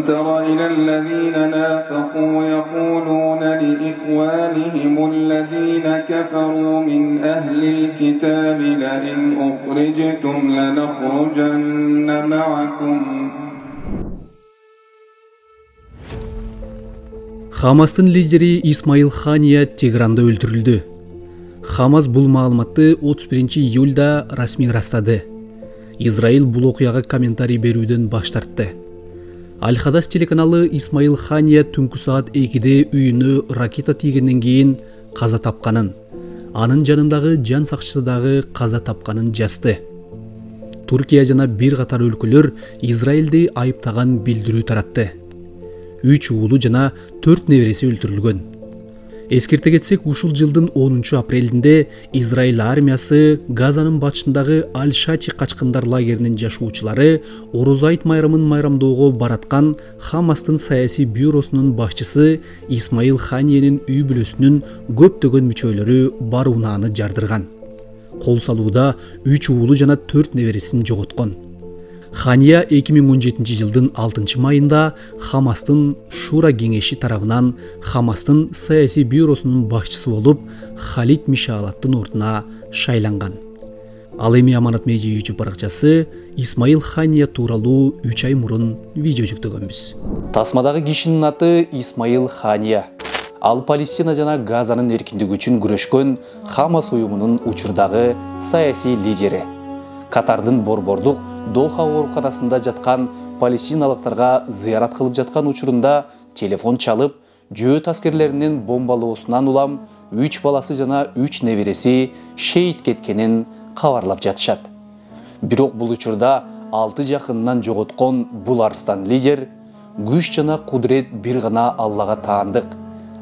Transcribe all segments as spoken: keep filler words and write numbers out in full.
تر إلى الذين نافقوا يقولون لإخوانهم الذين كفروا من أهل الكتاب لئن أخرجتم لنخرجن معكم. Хамастын лидери Исмаил Хания Тегранда өлтүрүлдү. Хамас бул маалыматты отуз биринчи июлда расмий ырастады. Израиль бул окуяга комментарий берүүдөн баш тартты. Аль-Хадас телеканалы Исмаил Хания түнкү саат экиде үйүнө ракета тийгенден кийин каза тапканын, анын жанындагы жан сакчысы дагы каза тапканын жазды. Туркия жана бир катар өлкөлөр Израилди айыптаган билдирүү таратты. үч уулу жана төрт небереси өлтүрүлгөн. Эскерте кетсек, ушул жылдын онунчу апрелинде Израиль армиясы Газанын батышындагы Аль-Шати качкындар лагеринин жашоочулары Ороз айт майрамын майрамдоого бараткан Хамастын саясий бюросунун башчысы Исмаил Ханиянын үй бүлөсүнүн көптөгөн мүчөлөрү бар унааны жардырган. Кол салууда үч уулу жана төрт небересин жоготкон. Хания эки миң он жетинчи жылдын алтынчы майында Хамастын Шура кеңеши тарабынан Хамастын саясий бюросунун башчысы болуп, Халид Мишалаттын ордуна шайланган. Ал эми Аманат Медиа YouTube баракчасы Исмаил Хания тууралуу үч ай мурун видео жүктөгөнбүз. Тасмадагы кишинин аты Исмаил Хания. Ал Палестина жана Газанын эркиндиги үчүн күрөшкөн Хамас уюмунун учурдагы саясий лидери. Катардын борбордук Доха ооруканасында жаткан палестиналыктарга зыярат кылып жаткан учурунда телефон чалып, жөөт аскерлеринин бомбалоосунан улам үч баласы жана үч небереси шейит кеткенин кабарлап жатышат. Бирок бул учурда алты жакынынан жоготкон бул арстан лидер күч жана кудрет бир гана Аллага таандык,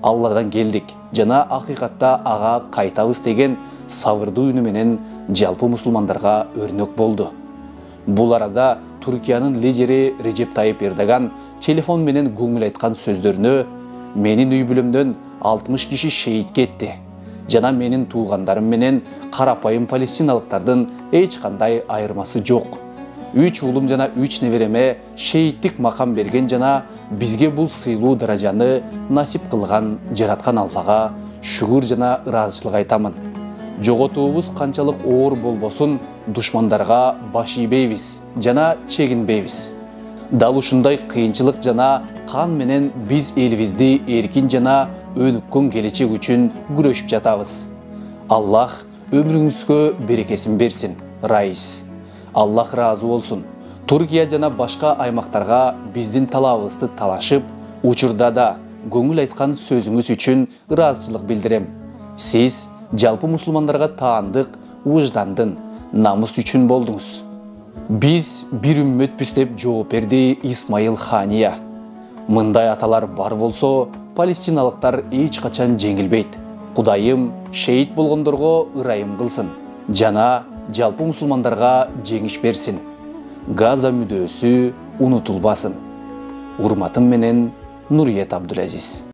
Алладан келдик жана акыйкатта ага кайтабыз деген сабырдуу үнү менен жалпы мусулмандарга өрнөк болду. Бул арада Туркиянын лидери Режеп Тайып Эрдоган телефон менен көңүл айткан сөздөрүнө менин үй бүлөмдөн алтымыш киши шейит кетти жана менин туугандарым менен карапайым палестиналыктардын эч кандай айырмасы жок. Үч уулум жана үч небереме шейиттик макам берген жана бизге бул сыйлуу даражаны насип кылган жараткан Аллага шүгүр жана ыраазычылык айтамын. Жоготуубуз канчалык оор болбосун, душмандарга баш ийбейбиз жана чегинбейбиз. Дал ушундай кыйынчылык жана кан менен биз элибизди эркин жана өнүккөн келечек үчүн күрөшүп жатабыз. Аллах өмүрүңүзгө берекесин берсин, Раис. Аллах ыраазы болсун. Туркия жана башка аймактарга биздин талабыбызды талашып, учурда да көңүл айткан сөзүңүз үчүн ыраазычылык билдирем. Сиз жалпы мусулмандарга таандык, уждандын, намыс үчүн болдуңуз. Биз бир үммөтпүз деп жооп берди Исмаил Хания. Мындай аталар бар болсо, палестиналыктар эч качан жеңилбейт. Кудайым шейит болгондорго ырайым кылсын жана жалпы мусулмандарга жеңиш берсин. Газа мүдөөсү унутулбасын. Урматым менен Нуриет Абдулазиз.